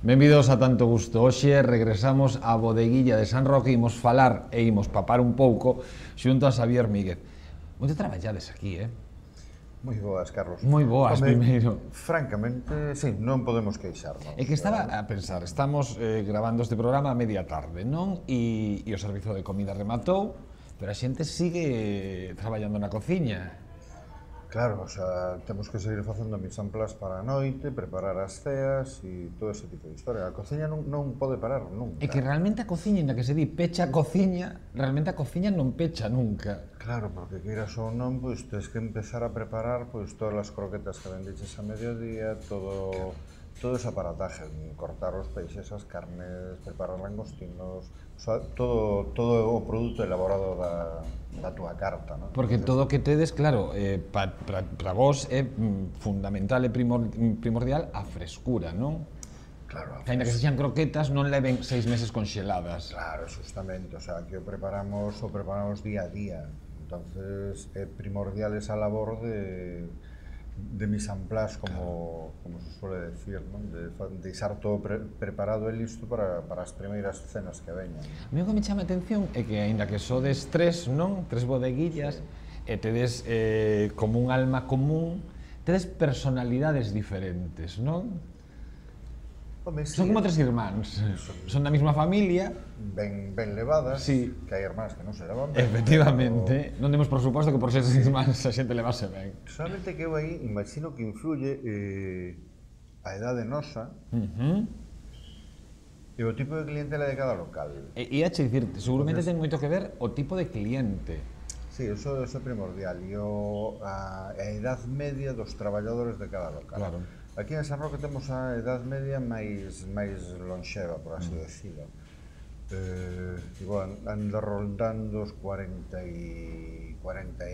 Benvidos a Tanto Gusto. Hoxe regresamos á bodeguilla de San Roque e imos falar e imos papar un pouco xunto a Xavier Míguez. Moito traballades aquí, Moi boas, Carlos. Moi boas, primeiro. Francamente, sí, non podemos queixarnos. É que estaba a pensar, estamos grabando este programa a media tarde, non? E o servizo de comida rematou, pero a xente sigue traballando na cociña. Claro, o sea, temos que seguir facendo mise en place para a noite, preparar as ceas e todo ese tipo de historia. A cociña non pode parar nunca. É que realmente a cociña, inda que se di pecha a cociña, realmente a cociña non pecha nunca. Claro, porque queiras ou non, pois tens que empezar a preparar pois todas as croquetas que vendiches a mediodía, todo ese aparataje, cortar os peixes, as carnes, preparar langostinos, o sea, todo o produto elaborado da túa carta, non? Porque todo o que tedes, claro, para vos é fundamental e primordial a frescura, non? Claro, Ainda que sexan croquetas, non leven 6 meses conxeladas. Claro, justamente, o sea, que o preparamos día a día. Entonces, é primordial esa labor de mise en place, como se suele decir, non? De deixar todo preparado e listo para as primeiras cenas que veñan. A mí o que me chama a atención é que, aínda que sodes tres, non? Tres bodeguillas, e tedes como un alma común, tedes personalidades diferentes, non? Home, sí, Son como tres irmáns, son da mesma familia. Ben levadas, Sí. que hai irmáns que non se levan ben. Efectivamente, non demos por suposto que por ser irmáns a xente levase ben. Solamente que eu aí imagino que influye a edade nosa e o tipo de clientela de cada local. E ia che dicirte, seguramente ten moito que ver o tipo de cliente. Sí, eso é primordial, e a edad media dos traballadores de cada local. Claro. Aquí en San Roque temos a edad media máis lonxeva, por así decirlo. Igual, anda rondando os 40 e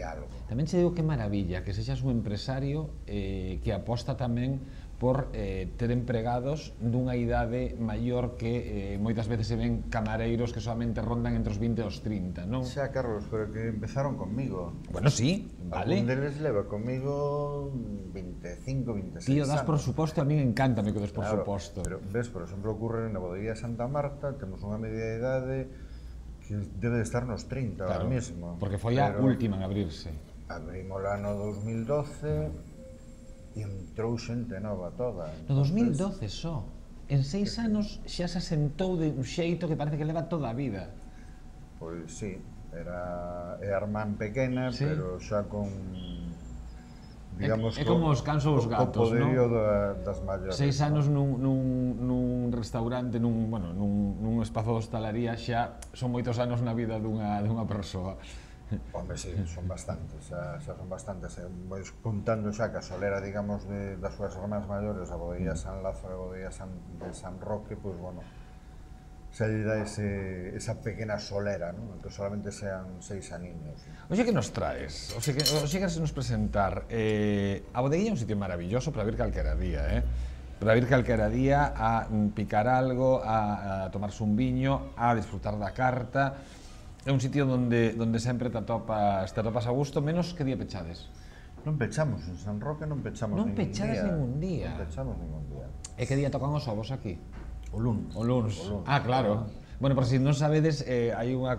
algo. Tamén che digo que maravilla que sexas un empresario que aposta tamén por ter empregados dunha idade maior que moitas veces se ven camareiros que solamente rondan entre os 20 e os 30, non? Xa, Carlos, pero que empezaron conmigo. Bueno, sí, vale. Algún deles leva conmigo 25, 26 Tío, das por anos. suposto, a mí encántame que des por Claro, suposto. pero ves, por exemplo, ocurre na bodeguía Santa Marta, temos unha media idade que debe de estar nos 30 Claro, ahora mesmo. porque foi a última en abrirse. Abrimos lá no 2012 e entrou xente nova toda. No 2012 só. En 6 anos xa se asentou de un xeito que parece que leva toda a vida. Pois sí, é a irmán pequena, Sí. pero xa con, digamos, É como os cans ou os gatos, co poderío non? das maiores. 6 anos nun restaurante, nun espazo de hostalería xa son moitos anos na vida dunha persoa. Home, sí, son bastantes, xa son bastantes. Pois contando xa que a solera, digamos, das súas irmás maiores, a bodeguía San Lázaro e a bodeguía de San Roque, pois, bueno, xa lle dá esa pequena solera, non? Que solamente sean 6 aniños. Oxe, que nos traes? Oxe, que nos presentar. A bodeguilla é un sitio maravilloso para vir calquera día, para vir calquera día a picar algo, a tomarse un viño, a disfrutar da carta. É un sitio onde sempre te atopas a gusto, menos que día pechades. Non pechamos, en San Roque non pechamos Non ningún pechades día. ningún día. Non pechamos ningún día. E que día tocan os ovos aquí? O luns. O luns. Ah, claro. Bueno, por si non sabedes, hai unha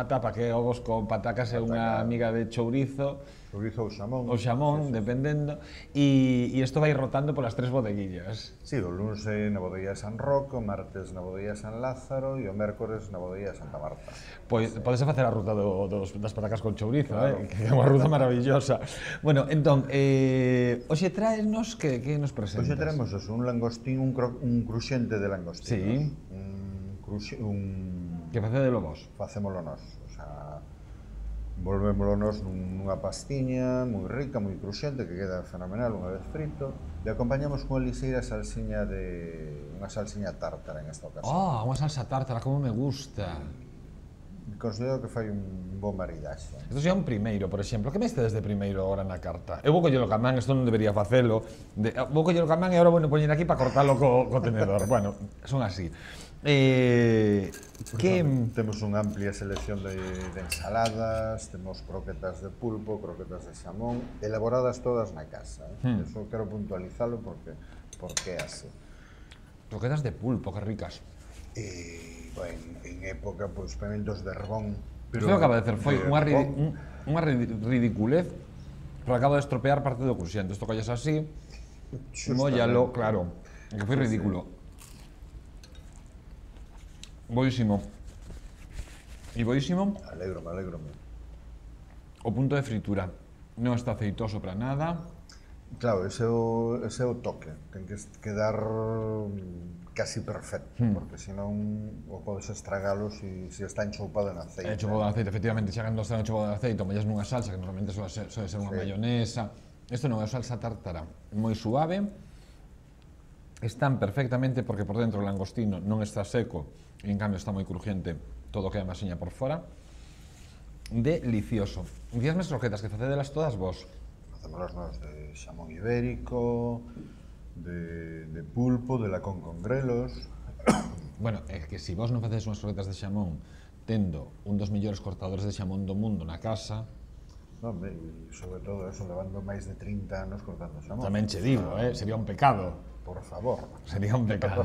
tapa que é ovos con patacas e unha amiga de chourizo. Chourizo ou xamón. O xamón, dependendo. E isto vai rotando polas tres bodeguillas. Sí, o luns é na bodeguía San Roque, o martes na bodeguía San Lázaro e o mércores na bodeguía Santa Marta. Pois podese facer a ruta das patacas con chourizo, claro. Que é unha ruta maravillosa. Bueno, entón, hoxe traesnos, que nos presentas? Hoxe teremos un langostín, un cruxente de langostinos. Sí. Que facedelo vos? Facémolo nós, o sea, volvémolo nós nunha pastiña moi rica, moi cruxente, que queda fenomenal unha vez frito, e acompañamos con liseira salsiña unha salsiña tártara en esta ocasión. Oh, unha salsa tártara, como me gusta. considero que fai un bo maridaxe. Isto xa é un primeiro, por exemplo. Que me estedes de primeiro agora na carta? Eu vou collelo ca man, isto non debería facelo. Vou collelo ca man e agora vou poñer aquí para cortalo co tenedor. Bueno, son así. Temos unha amplia selección de ensaladas, temos croquetas de pulpo, croquetas de xamón, elaboradas todas na casa. Eso quero puntualizalo porque é así. Croquetas de pulpo, que ricas. En época, pois, pementos de Herbón. Isto que acaba de hacer foi unha ridiculez, pero acaba de estropear parte do cruxente. Isto colles así, móllalo, claro, que foi ridículo. Boísimo. E boísimo. Alégrome. O punto de fritura non está aceitoso para nada. Claro, ese é o toque. Ten que quedar casi perfecto, porque senón o podes estragalo se está enchoupado en aceite. Enchoupado en aceite, efectivamente, xa cando está enchoupado en aceite, o mollas nunha salsa, que normalmente suele ser unha mayonesa. Isto non é salsa tártara, moi suave. Están perfectamente, porque por dentro o langostino non está seco, e en cambio está moi crujiente, todo queda masiña por fora. Delicioso. Díasme as croquetas, que facedelas todas vos. Facémolas nós de xamón ibérico, de pulpo, de lacón con grelos. Bueno, é que se vos non facedes unhas croquetas de xamón tendo un dos mellores cortadores de xamón do mundo na casa... Non, e sobre todo eso, levando máis de 30 anos cortando xamón. Tamén che digo, sería un pecado. Por favor. Sería un pecado.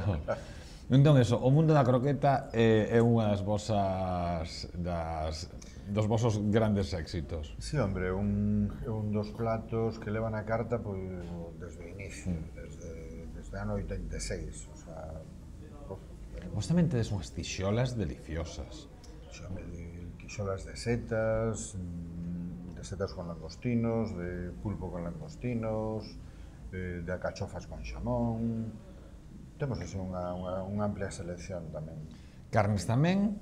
Entón, eso, o mundo da croqueta é unha das vosas... dos vosos grandes éxitos. Sí, hombre, un dos platos que levan a carta pois, desde o inicio, desde ano 86, o sea... Vos tamén tedes unhas tixolas deliciosas. Tixolas de setas con langostinos, de pulpo con langostinos, de acachofas con xamón... Temos así unha amplia selección tamén. Carnes tamén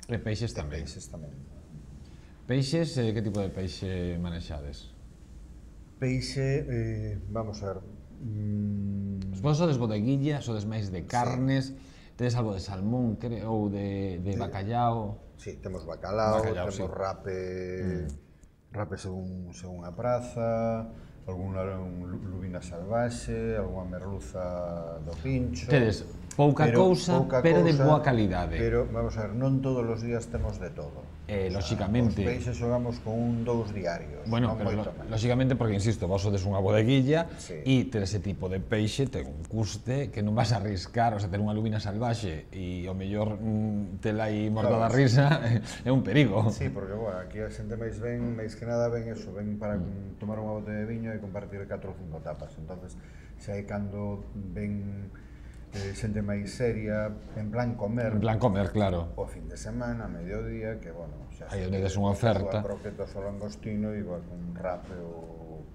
e peixes tamén. Peixes, que tipo de peixe manexades? Peixe, vamos a ver... Vos sodes bodeguilla, sodes máis de carnes, tedes algo de salmón ou de bacallao? Sí, temos bacalao, temos rape según a praza, algunha lubina salvaxe, algunha merluza do pincho... Tedes pouca cousa, pero de boa calidade. Pero, vamos a ver, non todos os días temos de todo. Lóxicamente... Os peixes xogamos con 2 diarios. Bueno, pero lóxicamente, porque, insisto, vos sodes unha bodeguilla e ter ese tipo de peixe ten un custe que non vas a arriscar, o sea, ter unha lubina salvaxe e ao mellor tela aí morta da risa é un perigo. Sí, porque, bueno, aquí a xente máis que nada ven eso, ven para tomar unha botella de viño e compartir 4 ou 5 tapas. Entonces, xa é cando ven xente máis seria, en plan comer. En plan comer, claro. O fin de semana, a mediodía, que, bueno, xa aí onde des unha oferta. Croquetas ao langostino, igual con rape ou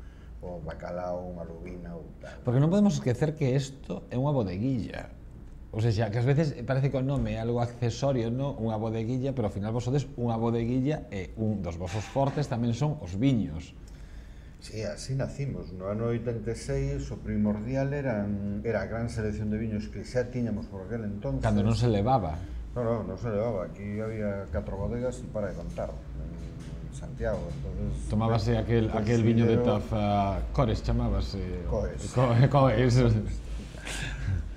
bacalao, unha lubina ou tal. Porque non podemos esquecer que isto é unha bodeguilla. O sea, que ás veces parece que o nome é algo accesorio, non? Unha bodeguilla, pero ao final vos sodes unha bodeguilla e un dos vosos fortes tamén son os viños. Sí, así nacimos. No ano 86 o primordial era a gran selección de viños que xa tiñamos por aquel entonces. Cando non se levaba. Non se levaba. Aquí había 4 bodegas e para de contar. En Santiago, entonces... Tomábase aquel viño de taza... Cores chamábase. Coes.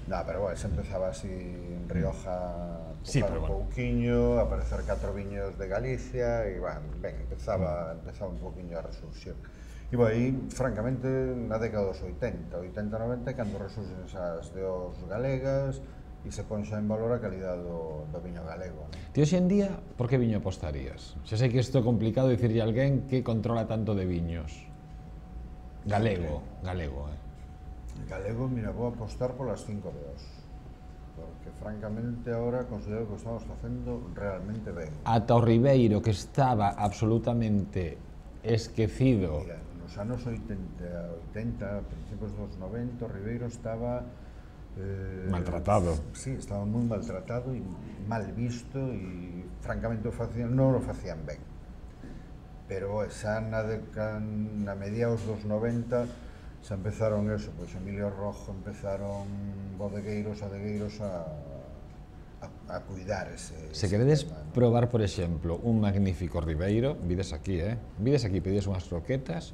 No, pero bueno, se empezaba así en Rioja, un pouquiño, a aparecer 4 viños de Galicia e, bueno, empezaba un pouquiño a resurxir. E aí, francamente, na década dos 80, 90, cando resurxen esas deos galegas e se ponxa en valor a calidad do viño galego. Ti hoxe en día, por que viño apostarías? Xa sei que isto é complicado dicirlle a alguén que controla tanto de viños. Galego, Galego, mira, vou apostar polas 5 deos. Porque, francamente, agora considero que o estamos facendo realmente ben. Ata o Ribeiro, que estaba absolutamente esquecido. Mira, nos anos 80, principios dos 90, o Ribeiro estaba... maltratado. Sí, estaba moi maltratado e mal visto e, francamente, non o facían ben. Pero xa na mediados dos 90 xa empezaron pois Emilio Rojo, empezaron bodegueiros, adegueiros a a cuidar ese Se queredes tema, ¿no? probar, por exemplo, un magnífico ribeiro, vides aquí, pedides unhas croquetas,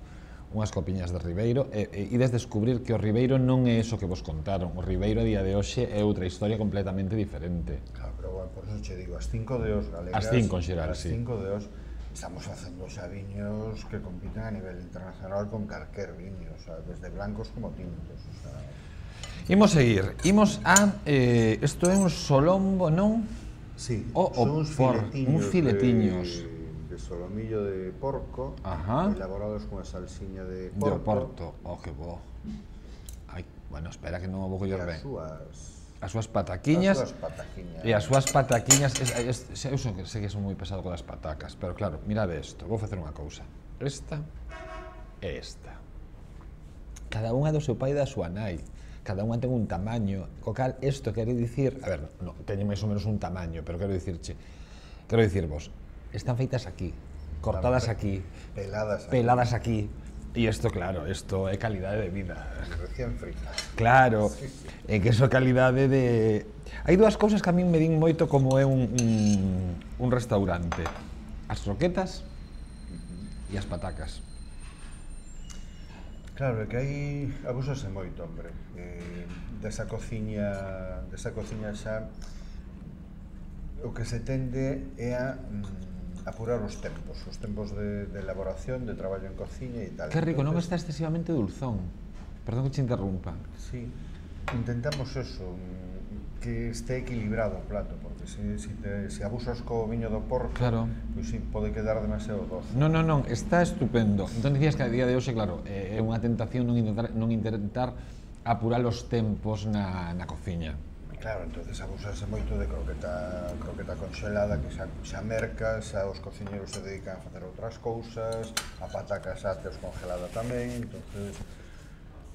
unhas copiñas de ribeiro, e ides descubrir que o ribeiro non é eso que vos contaron. O ribeiro a día de hoxe é outra historia completamente diferente. Claro, pero bueno, por eso che digo, as 5 de os galegas, As 5 en xeral, as sí. 5 de os, estamos facendo xa viños que compiten a nivel internacional con calquer viño, o sea, desde blancos como tintos, o sea... Imos seguir, imos a... isto é un solombo, non? Sí, son uns filetiños, filetiños. De solomillo de porco, Ajá. elaborados con a salsiña de De porco, Oporto. Oh, que bo. Ai, bueno, espera que non o vou coller ben. As súas as pataquiñas. súas pataquiñas. E as súas pataquiñas, eu sei que son moi pesado con as patacas, pero claro, mirade isto, vou facer unha cousa. Esta e esta. Cada unha do seu pai e da súa nai. Cada unha ten un tamaño, co cal isto quere dicir, a ver, no, teñen máis ou menos un tamaño, pero quero dicirvos, están feitas aquí, cortadas aquí, peladas aquí, e isto, claro, isto é calidade de vida. Recién frita. Claro, é que iso é calidade de... Hai dúas cousas que a min me din moito como é un restaurante. As croquetas e as patacas. Claro, é que aí abúsase moito, hombre. Desa cociña xa o que se tende é a apurar os tempos de elaboración, de traballo en cociña e tal. Que rico, non está excesivamente dulzón. Perdón que te interrumpa. Sí, intentamos eso, que este equilibrado o plato, porque se abusas co viño do porco, Claro. pois sí, pode quedar demasiado doce. Non, está estupendo. Entón dicías que a día de hoxe, claro, é unha tentación non intentar apurar os tempos na cociña. Claro, entonces abusase moito de croqueta conxelada, que xa merca, xa os cociñeros se dedican a facer outras cousas, a pataca xa teos congelada tamén, entonces...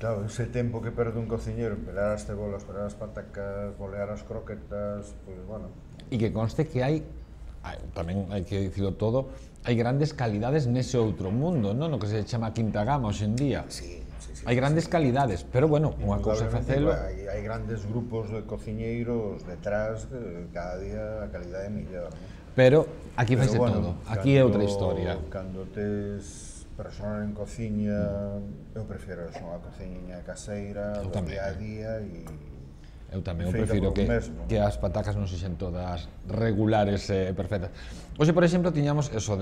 Claro, ese tempo que perde un cociñero en pelar as cebolas, pelar as patacas, bolear as croquetas, pois, bueno... E que conste que hai, tamén hai que dicilo todo, hai grandes calidades nese outro mundo, non? No que se chama quinta gama hoxe en día. Sí. Hai grandes calidades, pero bueno, unha cousa é facelo... Hai grandes grupos de cociñeiros detrás, cada día a calidade é mellor, non? Pero aquí faise todo, aquí é outra historia. Cando tes personal en cociña, eu prefiro unha cociña caseira, do día a día e... Eu tamén, eu prefiro que as patacas non sexen todas regulares e perfectas. Hoxe, por exemplo, tiñamos eso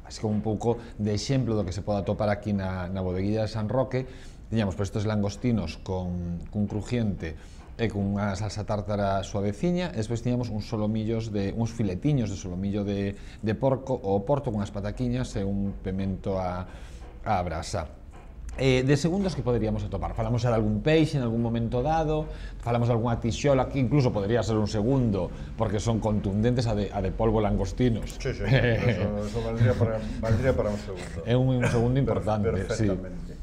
así como un pouco de exemplo do que se pode atopar aquí na bodeguilla de San Roque. Tiñamos estes langostinos con crujiente e con unha salsa tártara suaveciña, e despois tiñamos uns filetiños de solomillo de porco ou porto con as pataquiñas e un pemento á brasa. De segundos que poderíamos atopar? Falamos xa de algún peixe en algún momento dado, falamos de algunha tixola, que incluso podría ser un segundo, porque son contundentes a de polvo langostinos. Sí, eso valdría para un segundo. É un segundo importante, perfectamente.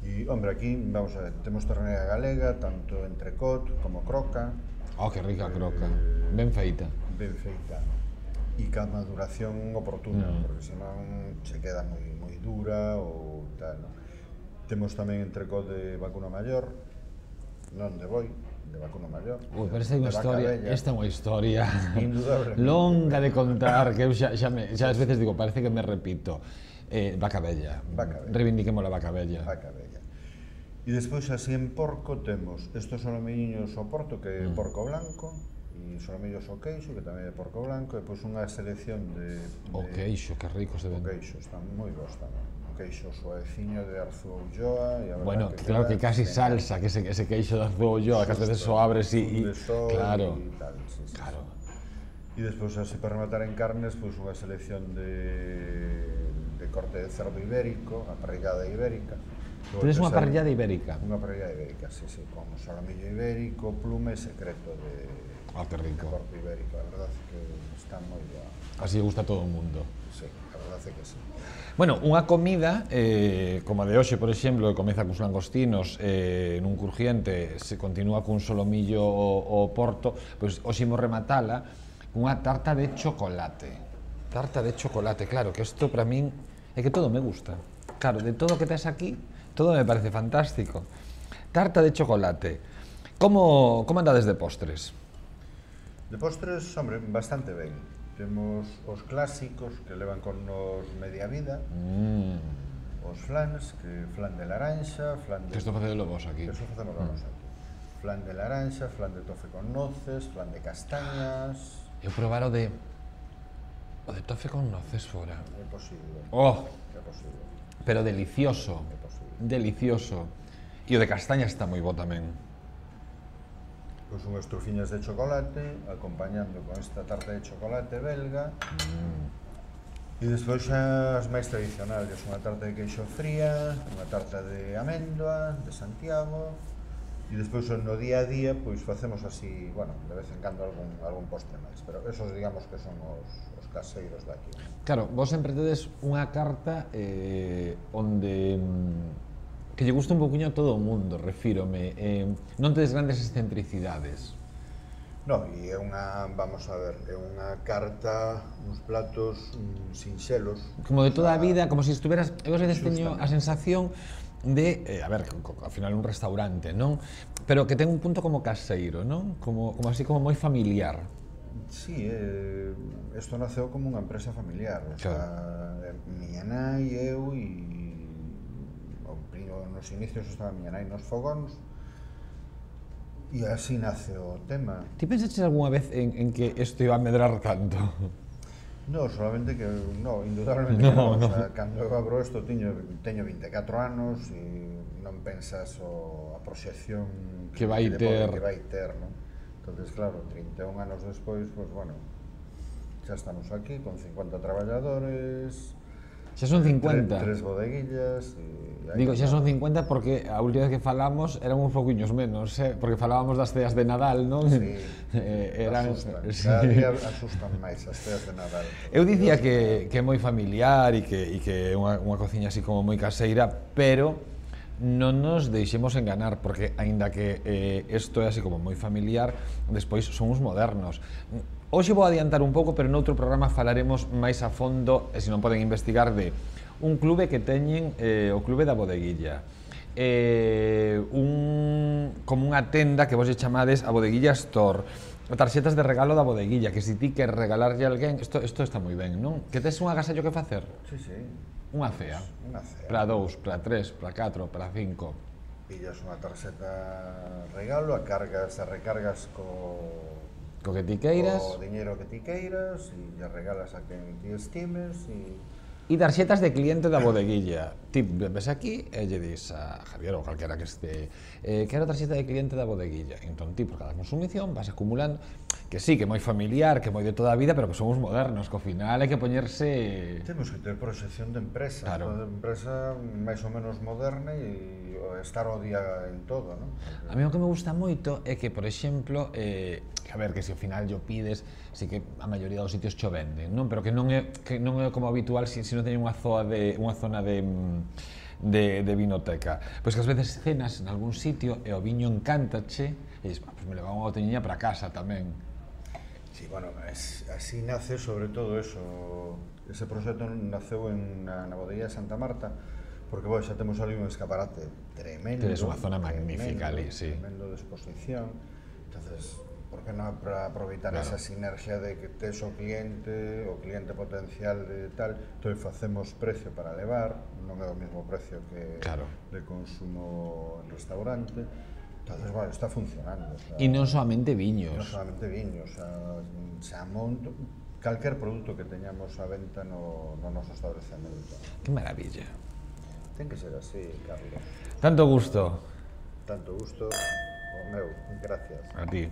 E, hombre, aquí, vamos a ver, temos ternera galega, tanto entrecot como croca. Oh, que rica croca, ben feita. Ben feita. E ca maduración oportuna, porque senón se queda moi dura ou tal, non? Temos tamén entrecot de vacuno maior, non de boi, de vacuno maior. Ui, pero esta é unha historia longa de contar, que eu xa ás veces digo, parece que me repito. Vaca bella, reivindiquemos a vaca bella. E despois, así en porco, temos estos solomilliños ao porto, que é porco blanco, e solomillos ao queixo, que tamén é porco blanco, e depois unha selección de... O queixo, que rico se ven. O queixo, están moi bons tamén. O queixo suaveciño de Arzúa Ulloa, e a verdad bueno, que claro que casi salsa, que ese queixo de Arzúa Ulloa, que ás veces o abres e... Claro. Claro. E despois, así para rematar en carnes, pois unha selección de corte de cerdo ibérico, a parrillada ibérica. Tedes unha parrillada ibérica? Unha parrillada ibérica, sí, con solomillo ibérico, plume secreto de corte ibérico. A verdade é que está moi boa. Así gusta a todo o mundo. Sí, a verdade é que sí. Bueno, unha comida, como a de hoxe, por exemplo, que comeza cos langostinos, nun crujiente, se continúa cun solomillo o porto, pois hoxe imos rematala unha tarta de chocolate. Tarta de chocolate, claro, que isto para min é que todo me gusta. Claro, de todo o que tes aquí, todo me parece fantástico. Tarta de chocolate. Como andades de postres? De postres, hombre, bastante ben. Temos os clásicos que levan con nos media vida, os flans, que flan de laranxa, flan de... Que isto facedelo vos aquí. Que isto facemos vos aquí. Flan de laranxa, flan de tofe con noces, flan de castañas... Eu probar o de tofe con noces fora. É posible. Oh, É posible. pero delicioso. É posible. Delicioso. E o de castaña está moi bo tamén. Pois unhas trufiñas de chocolate, acompañando con esta tarta de chocolate belga. E despois xa as máis tradicionales, unha tarta de queixo fría, unha tarta de amendoa, de Santiago. E despois no día a día, pois facemos así, bueno, de vez en cando algún postre máis, pero esos digamos que son os caseiros daqui. Claro, vos sempre tedes unha carta onde que lle gusta un poquinho a todo o mundo, refírome. Non tedes grandes excentricidades. No, e é unha, vamos a ver, é unha carta, uns platos sinxelos. Como de toda a vida, como se estuveras... Eu a veces teño a sensación de, a ver, ao final un restaurante, non? Pero que ten un punto como caseiro, non? Como así como moi familiar. Sí, isto naceu como unha empresa familiar, o sea, miña nai, eu e nos inicios estaba miña nai nos fogóns e así nace o tema. Ti pensaches algunha vez en que isto iba a medrar tanto? No, solamente que, no, indudablemente no. O sea, cando eu abro isto teño 24 anos e non pensas a proxección que vai ter, non? Entonces, claro, 31 anos despois, pues bueno, xa estamos aquí con 50 traballadores. Xa son 50. Tres bodeguillas e... Digo, xa son 50 porque a última vez que falamos eran uns pouquiños menos, porque falábamos das ceas de Nadal, non? Sí, eran... asustan. Cada día asustan máis as ceas de Nadal. Eu dicía que é moi familiar e que é unha cociña así como moi caseira, pero non nos deixemos enganar, porque aínda que isto é así como moi familiar, despois son uns modernos. Hoxe vou adiantar un pouco, pero noutro programa falaremos máis a fondo, e se non poden investigar, de un clube que teñen, o Clube da Bodeguilla. Como unha tenda que vos lle chamades a Bodeguilla Store. Tarxetas de regalo da Bodeguilla, que se ti queres regalarlle a alguén, isto está moi ben, non? Que tes un agasallo que facer? Sí, sí. Unha cea. Unha cea. Para 2, para 3, para 4, para 5. Pillas unha tarxeta regalo, a cargas e recargas co que ti queiras. O diñeiro que ti queiras e lle regalas a quen ti estimes E tarxetas de cliente da Bodeguilla. Ti ves aquí e lle dis a Javier ou calquera que este quero tarxeta de cliente da Bodeguilla. Entón ti por cada consumición vas acumulando, que sí, que é moi familiar, que é moi de toda a vida, pero que somos modernos, que ao final hai que poñerse... Temos que ter proxección de empresa, claro. De empresa máis ou menos moderna e estar ao día en todo, non? A mí o que me gusta moito é que, por exemplo, a ver, que se ao final yo pides, si que a maioría dos sitios cho venden, non? Pero que non é como habitual se non teñen unha zona de vinoteca. Pois que ás veces cenas en algún sitio e o viño encántache e dices, pues me levaba unha botelliña para casa tamén. Sí, bueno, así nace sobre todo eso. Ese proxecto naceu na Bodeguilla de Santa Marta, porque bueno, xa temos ali un escaparate tremendo. Tedes unha zona magnífica ali, sí. Tremendo de exposición. Entonces, por que non para aproveitar esa sinergia de que tes o cliente potencial de tal, entón facemos precio para levar, non é o mesmo precio que de consumo en restaurante. Entonces, bueno, está funcionando. E non solamente viños. Non solamente viños, xa monto calquer produto que teñamos a venta no noso establecemento. Que maravilla. Ten que ser así, Carlos. Tanto gusto. Tanto gusto, o meu, gracias. A ti.